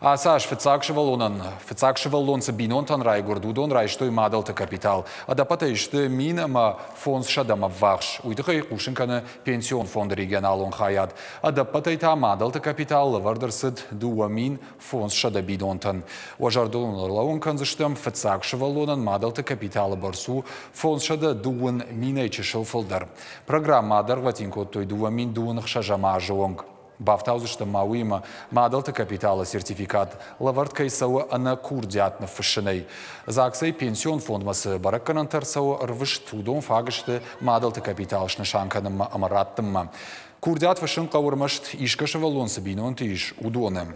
Ацы аз фыццаг сывӕллонӕн, фыццаг сывӕллон цы бинонтӕн райгуырд, уыдон райстой мадӕлты капитал. Ӕдӕппӕтӕй сты 1500-ӕм ӕввахс. Уый тыххӕй хъусын кӕны пенсион фонды регионалон хайад. Ӕдӕппӕтӕй та мадӕлты капитал лӕвӕрд ӕрцыд 2500 бинонтӕн. Уӕ зӕрдыл уын ӕрлӕууын кӕндзыстӕм, фыццаг сывӕллонӕн мадӕлты капиталы бӕрц у 520 минӕй чысыл фылдӕр. Программӕ адӕргъвӕтин кодтой 2026 азы онг. Бафтаудзыстӕм ма уыимӕ, мадӕлты капиталы сертификат лӕвӕрд кӕй цӕуы ӕнӕ курдиат ныффыссынӕй. ЗАГС-ӕй пенсион фондмӕ цы бӕрӕггӕнӕнтӕ ӕрцӕуы ӕрвыст, уыдон фаг сты мадӕлты капитал снысан кӕнынмӕ ӕмӕ раттынмӕ. Курдиат фыссын хъӕуы ӕрмӕст искӕ сывӕллон цы бинонты ис, уыдоны.